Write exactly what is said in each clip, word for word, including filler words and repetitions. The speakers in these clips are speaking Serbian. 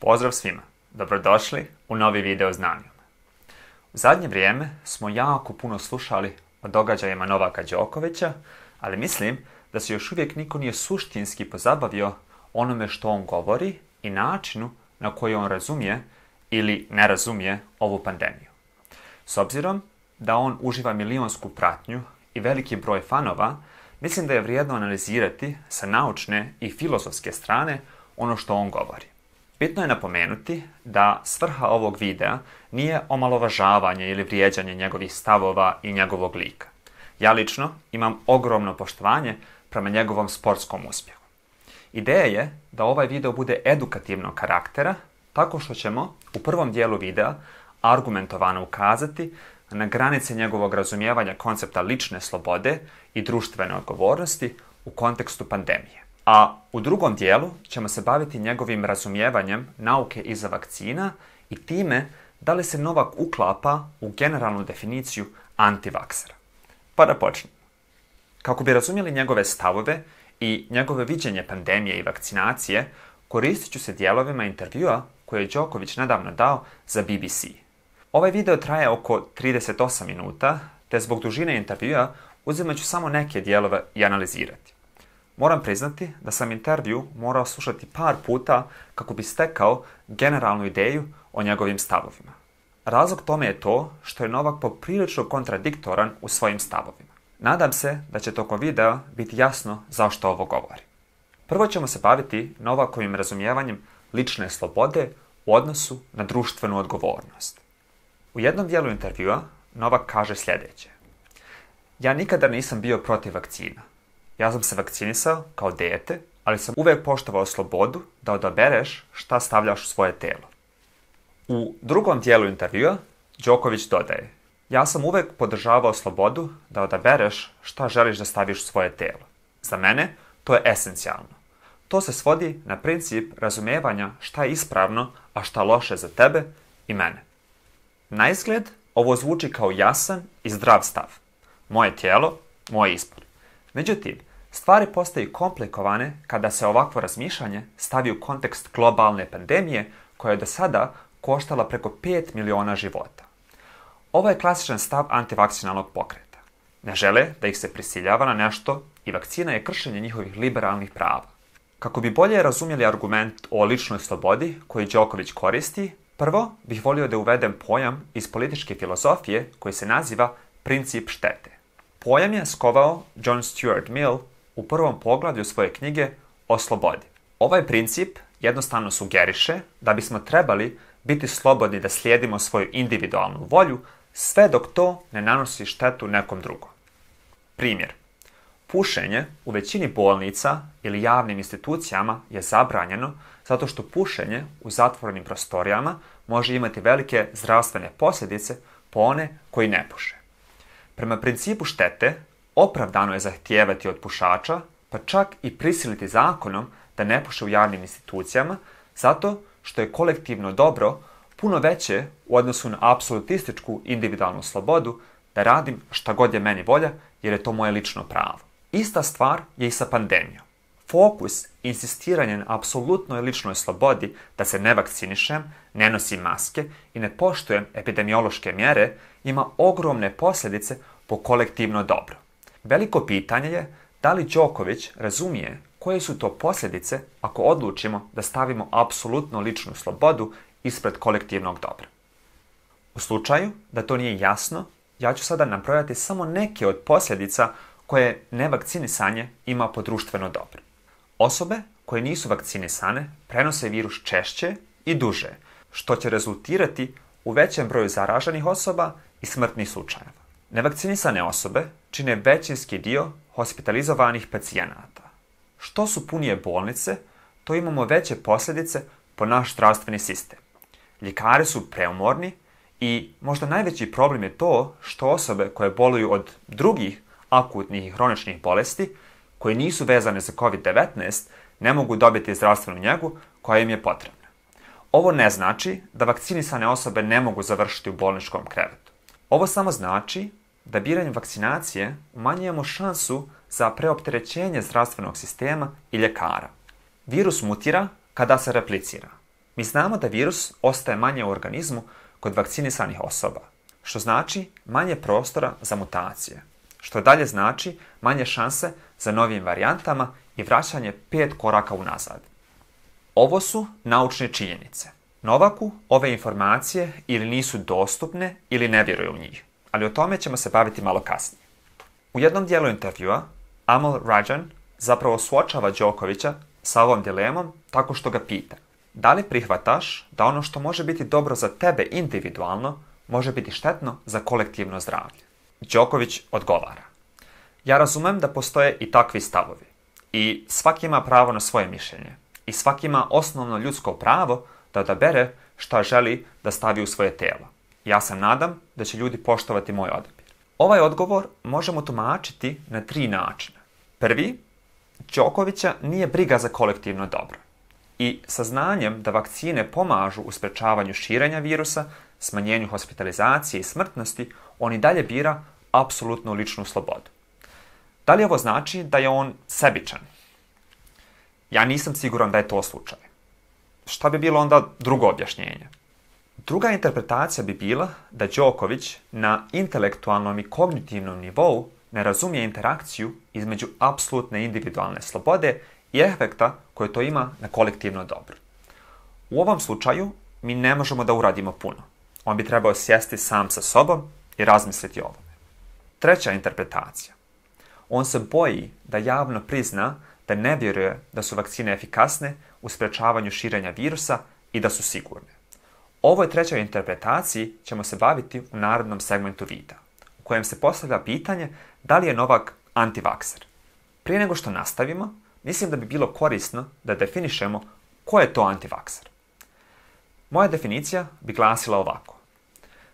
Pozdrav svima, dobrodošli u novi video znanjima. U zadnje vrijeme smo jako puno slušali o događajima Novaka Đokovića, ali mislim da se još uvijek niko nije suštinski pozabavio onome što on govori i načinu na koji on razumije ili ne razumije ovu pandemiju. S obzirom da on uživa milionsku pratnju i veliki broj fanova, mislim da je vrijedno analizirati sa naučne i filozofske strane ono što on govori. Bitno je napomenuti da svrha ovog videa nije omalovažavanje ili vrijeđanje njegovih stavova i njegovog lika. Ja lično imam ogromno poštovanje prema njegovom sportskom uspjehu. Ideja je da ovaj video bude edukativnog karaktera, tako što ćemo u prvom dijelu videa argumentovano ukazati na granice njegovog razumijevanja koncepta lične slobode i društvene odgovornosti u kontekstu pandemije. A u drugom dijelu ćemo se baviti njegovim razumijevanjem nauke iza vakcina i time da li se Novak uklapa u generalnu definiciju antivaksera. Pa da počnemo. Kako bi razumjeli njegove stavove i njegove viđenje pandemije i vakcinacije, koristit ću se dijelovima intervjua koje je Đoković nedavno dao za B B C. Ovaj video traje oko trideset osam minuta, te zbog dužine intervjua uzimat ću samo neke dijelove i analizirati. Moram priznati da sam intervju morao slušati par puta kako bi stekao generalnu ideju o njegovim stavovima. Razlog tome je to što je Novak poprilično kontradiktoran u svojim stavovima. Nadam se da će tokom videa biti jasno zašto ovo govori. Prvo ćemo se baviti Novakovim razumijevanjem lične slobode u odnosu na društvenu odgovornost. U jednom dijelu intervjua Novak kaže sljedeće. Ja nikada nisam bio protiv vakcina. Ja sam se vakcinisao kao dijete, ali sam uvijek poštovao slobodu da odabereš šta stavljaš u svoje telo. U drugom dijelu intervjua Đoković dodaje. Ja sam uvijek podržavao slobodu da odabereš šta želiš da staviš u svoje telo. Za mene to je esencijalno. To se svodi na princip razumijevanja šta je ispravno, a šta loše za tebe i mene. Na izgled ovo zvuči kao jasan i zdrav stav. Moje tijelo, moj izbor. Međutim, stvari postaju komplikovane kada se ovakvo razmišljanje stavi u kontekst globalne pandemije koja je do sada koštala preko pet miliona života. Ovo je klasičan stav antivakcinalnog pokreta. Ne žele da ih se prisiljava na nešto i vakcina je kršenje njihovih liberalnih prava. Kako bi bolje razumjeli argument o ličnoj slobodi koji Đoković koristi, prvo bih volio da uvedem pojam iz političke filozofije koji se naziva princip štete. Pojam je skovao John Stuart Mill u prvom poglavlju svoje knjige o slobodi. Ovaj princip jednostavno sugeriše da bismo trebali biti slobodni da slijedimo svoju individualnu volju sve dok to ne nanosi štetu nekom drugom. Primjer. Pušenje u većini bolnica ili javnim institucijama je zabranjeno zato što pušenje u zatvorenim prostorijama može imati velike zdravstvene posljedice po one koji ne puše. Prema principu štete, opravdano je zahtijevati od pušača, pa čak i prisiliti zakonom da ne puše u javnim institucijama, zato što je kolektivno dobro puno veće u odnosu na apsolutističku individualnu slobodu da radim šta god je meni volja jer je to moje lično pravo. Ista stvar je i sa pandemijom. Fokus i insistiranje na apsolutnoj ličnoj slobodi da se ne vakcinišem, ne nosim maske i ne poštujem epidemiološke mjere ima ogromne posljedice po kolektivno dobro. Veliko pitanje je da li Đoković razumije koje su to posljedice ako odlučimo da stavimo apsolutno ličnu slobodu ispred kolektivnog dobra. U slučaju da to nije jasno, ja ću sada nabrojati samo neke od posljedica koje nevakcinisanje ima po društveno dobro. Osobe koje nisu vakcinisane prenose virus češće i duže, što će rezultirati u većem broju zaraženih osoba i smrtnih slučajeva. Nevakcinisane osobe čine većinski dio hospitalizovanih pacijenata. Što su punije bolnice, to imamo veće posljedice po naš zdravstveni sistem. Ljekari su preumorni i možda najveći problem je to što osobe koje boluju od drugih akutnih i hroničnih bolesti, koje nisu vezane za kovid devetnaest, ne mogu dobiti zdravstvenu njegu koja im je potrebna. Ovo ne znači da vakcinisane osobe ne mogu završiti u bolničkom krevetu. Ovo samo znači da biranjem vakcinacije umanjujemo šansu za preopterećenje zdravstvenog sistema i ljekara. Virus mutira kada se replicira. Mi znamo da virus ostaje manje u organizmu kod vakcinisanih osoba, što znači manje prostora za mutacije, što dalje znači manje šanse za novim varijantama i vraćanje pet koraka unazad. Ovo su naučne činjenice. Novaku ove informacije ili nisu dostupne ili ne vjeruje u njih, ali o tome ćemo se baviti malo kasnije. U jednom dijelu intervjua Amol Rajan zapravo suočava Đokovića sa ovom dilemom tako što ga pita: da li prihvataš da ono što može biti dobro za tebe individualno može biti štetno za kolektivno zdravlje? Đoković odgovara: ja razumem da postoje i takvi stavovi i svaki ima pravo na svoje mišljenje i svaki ima osnovno ljudsko pravo da odabere šta želi da stavi u svoje tijelo. Ja se nadam da će ljudi poštovati moj odabir. Ovaj odgovor možemo tumačiti na tri načina. Prvi, Đokovića nije briga za kolektivno dobro. I saznanjem da vakcine pomažu u sprečavanju širenja virusa, smanjenju hospitalizacije i smrtnosti, on i dalje bira apsolutnu ličnu slobodu. Da li ovo znači da je on sebičan? Ja nisam siguran da je to slučaj. Šta bi bilo onda drugo objašnjenje? Druga interpretacija bi bila da Đoković na intelektualnom i kognitivnom nivou ne razumije interakciju između apsolutne individualne slobode i efekta koje to ima na kolektivno dobro. U ovom slučaju mi ne možemo da uradimo puno. On bi trebao sjesti sam sa sobom i razmisliti o ovome. Treća interpretacija. On se boji da javno prizna da ne vjeruje da su vakcine efikasne u sprečavanju širenja virusa i da su sigurne. Ovoj trećoj interpretaciji ćemo se baviti u narednom segmentu videa, u kojem se postavlja pitanje da li je Novak antivakser. Prije nego što nastavimo, mislim da bi bilo korisno da definišemo ko je to antivakser. Moja definicija bi glasila ovako: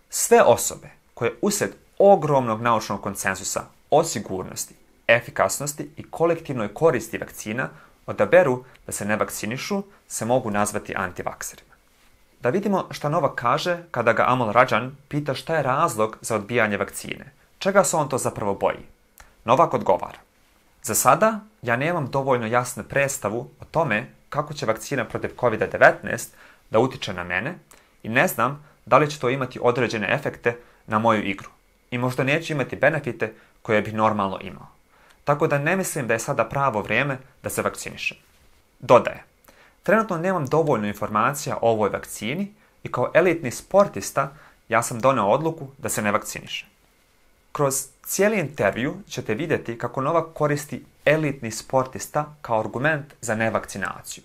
sve osobe koje usred ogromnog naučnog konsenzusa o sigurnosti, efikasnosti i kolektivnoj koristi vakcina odaberu da se ne vakcinišu, se mogu nazvati antivakserima. Da vidimo šta Novak kaže kada ga Amol Rajan pita šta je razlog za odbijanje vakcine. Čega se on to zapravo boji? Novak odgovara: za sada ja nemam dovoljno jasnu predstavu o tome kako će vakcina protiv kovid devetnaest da utiče na mene i ne znam da li će to imati određene efekte na moju igru i možda neću imati benefite koje bih normalno imao. Tako da ne mislim da je sada pravo vrijeme da se vakcinišem. Dodaje: trenutno nemam dovoljno informacija o ovoj vakcini i kao elitni sportista ja sam doneo odluku da se ne vakcinišem. Kroz cijeli intervju ćete vidjeti kako Novak koristi elitni sportista kao argument za nevakcinaciju.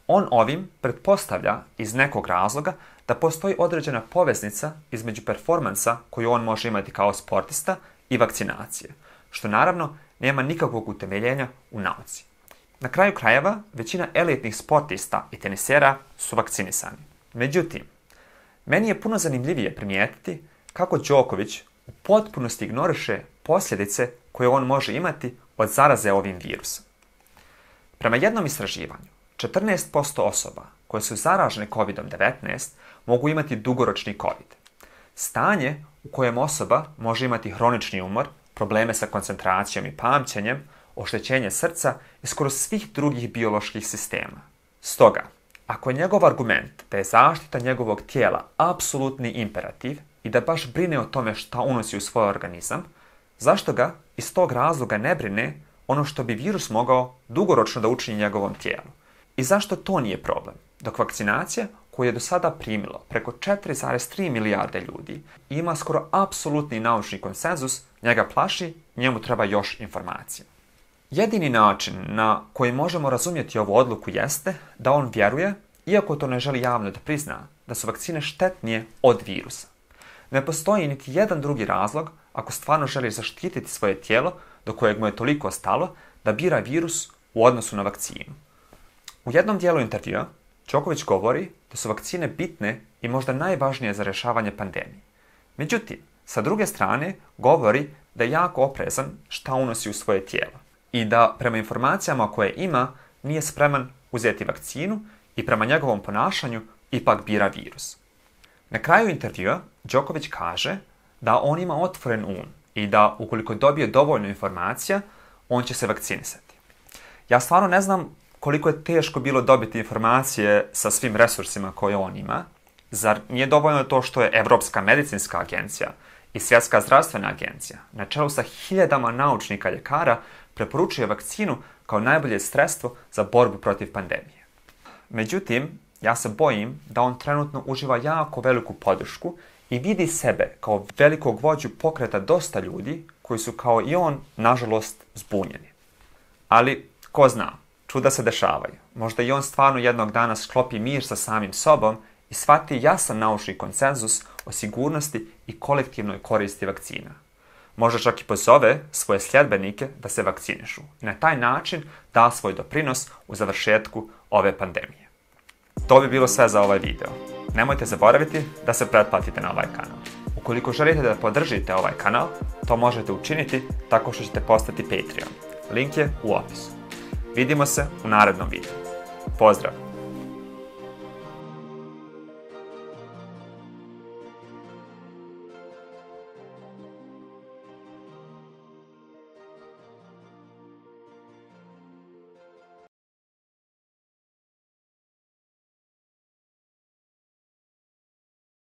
On ovim pretpostavlja iz nekog razloga da postoji određena poveznica između performansa koju on može imati kao sportista i vakcinacije, što naravno nema nikakvog utemeljenja u nauci. Na kraju krajeva, većina elitnih sportista i tenisera su vakcinisani. Međutim, meni je puno zanimljivije primijetiti kako Đoković u potpunosti ignoriše posljedice koje on može imati od zaraze ovim virusom. Prema jednom istraživanju, četrnaest posto osoba koje su zaražene kovid devetnaest mogu imati dugoročni covid. Stanje u kojem osoba može imati hronični umor, probleme sa koncentracijom i pamćenjem, oštećenje srca i skoro svih drugih bioloških sistema. Stoga, ako je njegov argument da je zaštita njegovog tijela apsolutni imperativ i da baš brine o tome šta unosi u svoj organizam, zašto ga iz tog razloga ne brine ono što bi virus mogao dugoročno da učini njegovom tijelu? I zašto to nije problem? Dok vakcinacija, koju je do sada primilo preko četiri zarez tri milijarde ljudi i ima skoro apsolutni naučni konsenzus, njega plaši, njemu treba još informacija. Jedini način na koji možemo razumjeti ovu odluku jeste da on vjeruje, iako to ne želi javno da prizna, da su vakcine štetnije od virusa. Ne postoji niti jedan drugi razlog, ako stvarno želi zaštititi svoje tijelo, do kojeg mu je toliko stalo, da bira virus u odnosu na vakcinu. U jednom dijelu intervjua Đoković govori da su vakcine bitne i možda najvažnije za rješavanje pandemije. Međutim, sa druge strane govori da je jako oprezan šta unosi u svoje tijelo i da prema informacijama koje ima nije spreman uzeti vakcinu i prema njegovom ponašanju ipak bira virus. Na kraju intervjua Đoković kaže da on ima otvoren um i da ukoliko dobije dovoljno informacija, on će se vakcinisati. Ja stvarno ne znam koliko je teško bilo dobiti informacije sa svim resursima koje on ima. Zar nije dovoljno to što je Evropska medicinska agencija i Svjetska zdravstvena agencija na čelu sa hiljadama naučnika i ljekara preporučuje vakcinu kao najbolje sredstvo za borbu protiv pandemije? Međutim, ja se bojim da on trenutno uživa jako veliku podršku i vidi sebe kao velikog vođu pokreta dosta ljudi koji su kao i on, nažalost, zbunjeni. Ali, ko zna, čuda se dešavaju. Možda i on stvarno jednog dana sklopi mir sa samim sobom i shvati jasan naučni konsenzus o sigurnosti i kolektivnoj koristi vakcina. Možda čak i pozove svoje sljedbenike da se vakcinišu i na taj način da svoj doprinos u završetku ove pandemije. To bi bilo sve za ovaj video. Nemojte zaboraviti da se pretplatite na ovaj kanal. Ukoliko želite da podržite ovaj kanal, to možete učiniti tako što ćete postati Patreon. Link je u opisu. Vidimo se u narednom videu. Pozdrav!